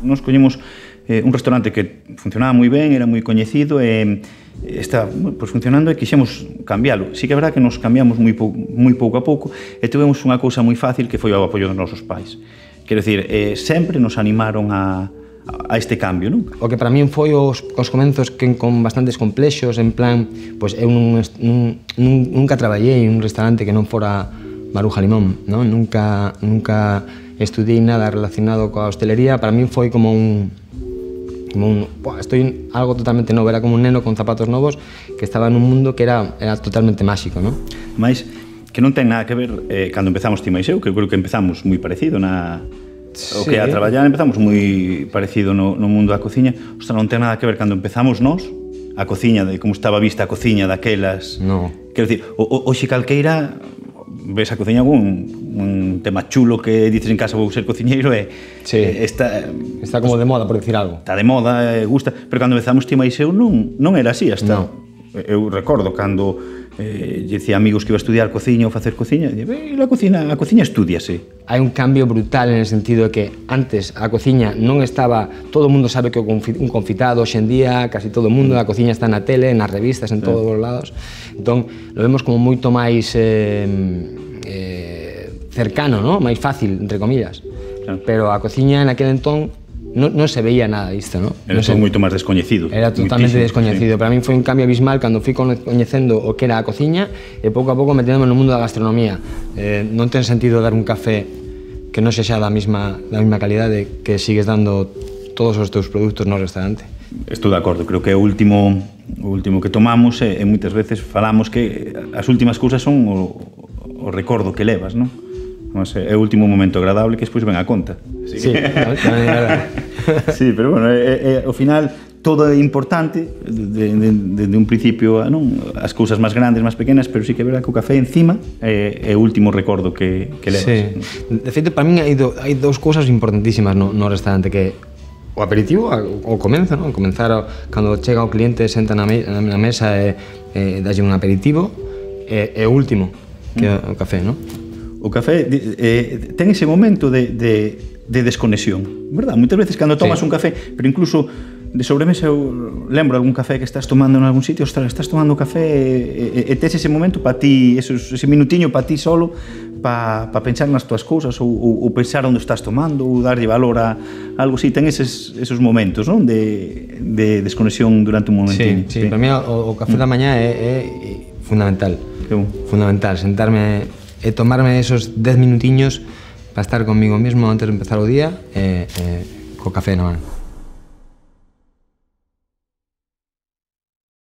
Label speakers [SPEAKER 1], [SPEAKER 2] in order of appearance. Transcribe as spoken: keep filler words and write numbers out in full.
[SPEAKER 1] nos collemos eh, un restaurante que funcionaba moi ben, era moi coñecido e eh, está pues, funcionando e quixemos cambiálo. Sí que é verdad que nos cambiamos moi, pou, moi pouco a pouco e tivemos unha cousa moi fácil que foi o apoio dos nosos pais. Quero dicir, eh, sempre nos animaron a, a este cambio, non?
[SPEAKER 2] O que para min foi os, os comenzos que con bastantes complexos, en plan, pois eu nun, nun, nunca traballei en un restaurante que non fora Maruja Limón, non? Nunca, nunca estudiei nada relacionado coa hostelería, para min foi como un... como un, buah, estoy algo totalmente novo, era como un neno con zapatos novos que estaba nun mundo que era, era totalmente máxico, non?
[SPEAKER 1] Mais que non ten nada que ver eh, cando empezamos ti máis eu, que eu creo que empezamos moi parecido na... Sí. O que a traballar empezamos moi parecido no, no mundo da cociña. Ostras, non ten nada que ver cando empezamos nós, a cociña, de como estaba vista a cociña daquelas...
[SPEAKER 2] No.
[SPEAKER 1] Quero dicir, hoxe calqueira ves a cociña un, un tema chulo que dices en casa vou ser cociñeiro e
[SPEAKER 2] sí. está, está como de moda, por decir algo.
[SPEAKER 1] Está de moda, e gusta, pero cando empezamos ti máis eu non, non era así hasta... No. Eu recordo cando eh, dicía amigos que iba a estudiar cociña ou facer cociña, e a cociña, a cociña estudiase.
[SPEAKER 2] Hai un cambio brutal en el sentido de que antes a cociña non estaba, todo o mundo sabe que un confitado, hoxe en día, casi todo o mundo, a cociña está na tele, nas revistas, en sí. todos os lados. Entón, lo vemos como moito máis eh, eh, cercano, ¿no? Máis fácil, entre comillas. Claro. Pero a cociña en aquel entón non, non se veía nada disto, ¿no?
[SPEAKER 1] Era
[SPEAKER 2] non
[SPEAKER 1] todo moito máis descoñecido.
[SPEAKER 2] Era totalmente descoñecido. Sí. Para min foi un cambio abismal cando fui coñecendo o que era a cociña e pouco a pouco metendome no mundo da gastronomía. Eh, non ten sentido dar un café que non sexa da mesma, da mesma calidade que sigues dando todos os teus produtos no restaurante.
[SPEAKER 1] Estou de acordo, creo que o último, o último que tomamos e, e moitas veces falamos que as últimas cousas son o, o recordo que levas, non? É o último momento agradable que despois ven a conta.
[SPEAKER 2] Sí, sí, tamén é verdade.
[SPEAKER 1] Sí, pero bueno, é, é, ao final todo é importante de, de, de, de un principio, non? As cousas máis grandes, máis pequenas, pero sí que é verdade que o café encima é, é o último recordo que, que levas.
[SPEAKER 2] Sí. De feito, para min hai, do, hai dous cousas importantísimas no, no restaurante, que o aperitivo, o comenzo, non? Comenzar o, cando chega o cliente, senta na, me, na mesa e, e dalle un aperitivo, e, e o último, que é o café, non?
[SPEAKER 1] O café eh, ten ese momento de, de, de desconexión, verdad? Moitas veces cando tomas sí. un café, pero incluso de sobremesa eu lembro algún café que estás tomando en algún sitio, ostras, estás tomando café e, e, e tes ese momento para ti, esos, ese minutiño para ti solo, para pa pensar nas tuas cousas ou, ou, ou pensar onde estás tomando ou darlle valor a algo así, ten eses, esos momentos, non? De, de desconexión durante un momentinho.
[SPEAKER 2] Sí, sí, sí. Para mí o, o café mm. da mañá é, é fundamental, bon. fundamental, sentarme e tomarme esos dez minutiños para estar conmigo mismo antes de empezar o día e, e co café na man.